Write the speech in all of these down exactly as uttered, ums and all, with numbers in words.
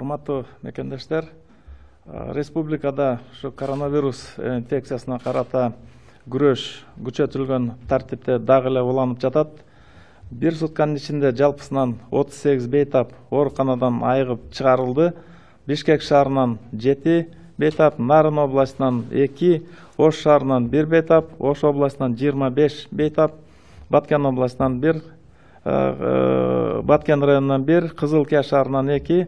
Урматтуу мекендештер, республикада ушу коронавирус инфекциясына карата күрөш күчөтүлгөн тартипте дагы эле уланып жатат. Бир сутканын ичинде жалпысынан отуз сегиз бейтап ооруканадан айыгып чыгарылды. Бишкек шаарынан жети бейтап, Нарын областынан эки, Ош шаарынан бир бейтап, Ош областынан жыйырма беш бейтап, Баткен областынан бир, Баткен районунан бир, Кызылкия шаарынан эки.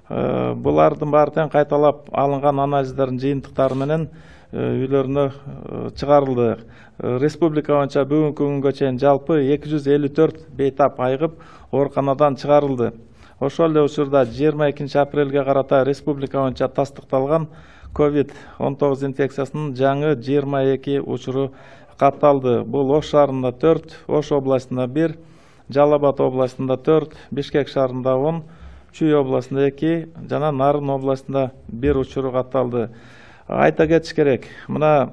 Булардын баары тең кайталап алынган анализдердин жыйынтыктары менен үйлөрүнө чыгарылды. Республика боюнча бүгүнкү күнгө чейин жалпы эки жүз элүү төрт бейтап айыгып ооруканадан чыгарылды. Ошол эле учурда жыйырма экинчи апрелге карата республика боюнча тастыкталган ковид он тогуз инфекциясынын жаңы жыйырма эки учуру катталды. Бул Ош шаарында төрт, Ош областында бир, Жалал Абад областында төрт, Бишкек шаарында он, Чүй областында эки жана Нарын областында бир учуру катталды. Айта кетиш керек, мына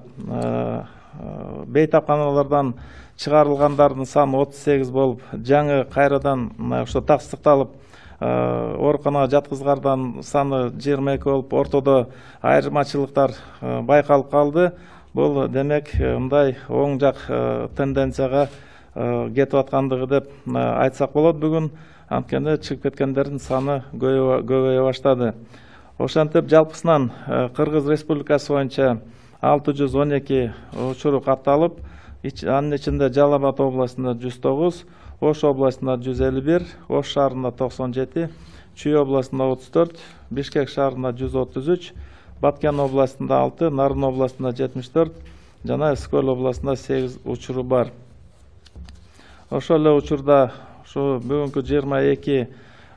бейтапканалардан чыгарылгандардын саны отуз сегиз болуп, жаңы кайрадан ошо тастыкталып ооруканага жаткызгардан саны жыйырма эки болуп, ортодо айырмачылыктар байкалып калды. Бул демек мындай оң жак тенденцияга кетип аткандыгы деп айтсак болот бүгүн. Анткени чыгып кеткендердин саны көбөйө баштады. Ошентип жалпысынан Кыргыз Республикасы боюнча алты жүз он эки учуру катталып, анын ичинде Жалал Абад областында жүз тогуз, Ош областында жүз элүү бир, Ош шаарында токсон жети, Чүй областында отуз төрт, Бишкек шаарында жүз отуз үч, Баткен областында алты, Нарын областында жетимиш төрт жана Эскөл областында сегиз учуру бар. Ошол эле учурда ушу бүгүнкү жыйырма эки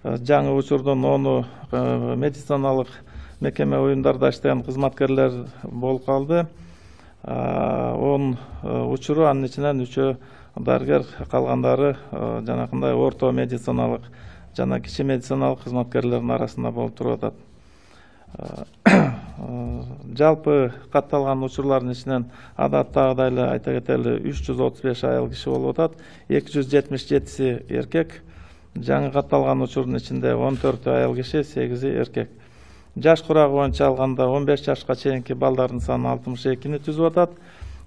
жаңы учурдун ону медициналык мекеме уюмдарда иштеген кызматкерлер болуп калды. он учуру, анын ичинен үчөө дарыгер, калгандары жанакындай орто медициналык жана кичи медициналык кызматкерлердин арасында болуп туруп атат. Жалпы катталган учурлардын ичинен адаттагыдай эле айта кетели үч жүз отуз беш айыл киши болуп атат. эки жүз жетимиш жетиси эркек. Жаңы катталган учурдун ичинде он төртү айыл киши, сегизи эркек. Жаш курагы боюнча алганда он беш жашка чейинки балдардын саны алтымыш экини түзүп атат.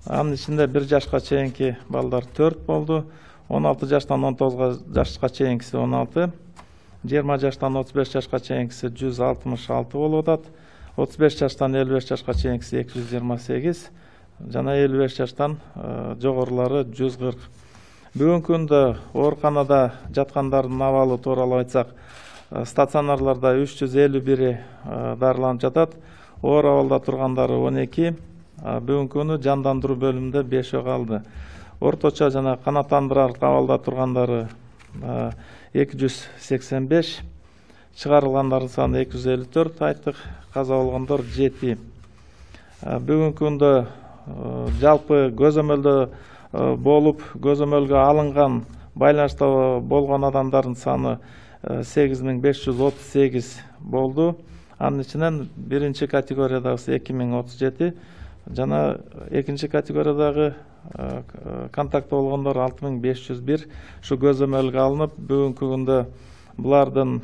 Анын ичинде бир жашка чейинки балдар төрт болду. он алты жаштан он тогуз жашка чейинкиси он алты. жыйырма жаштан отуз беш жашка чейинкиси жүз алтымыш алты болуп атат. отуз беш жаштан элүү беш жашка чейинкиси эки жүз жыйырма сегиз жана элүү беш жаштан жогорулары жүз кырк. Бүгүнкү күндө ооруканада жаткандардын абалы тууралуу айтсак, стационарларда үч жүз элүү бири дарыланып жатат. Оор абалда тургандары он эки, бүгүнкү күнү жандандыруу бөлүмүндө бешөө калды. Орточо жана канааттандырар абалда тургандары эки жүз сексен беш, чыгарылгандардын саны эки жүз элүү төрт айттык, каза болгондор жети. Бүгүнкү күндө жалпы көзөмөлдө болуп, көзөмөлгө алынган байланышта болгон адамдардын саны сегиз миң беш жүз отуз сегиз болду. Анын ичинен биринчи категориядагысы эки миң отуз жети жана экинчи категориядагы контакт болгондор алты миң беш жүз бир ушу көзөмөлгө алынып, бүгүнкү күндө булардын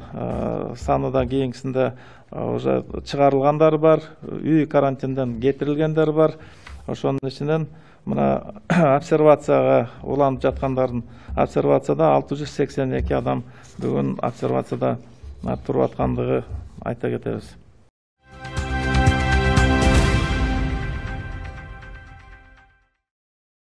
саны да кийинкисинде уже чыгарылгандары бар, үй карантинден кетирилгендер бар. Ошонун ичинен мына обсервацияга уланып жаткандардын обсервацияда алты жүз сексен эки адам бүгүн обсервацияда туруп аткандыгы айта кетебиз.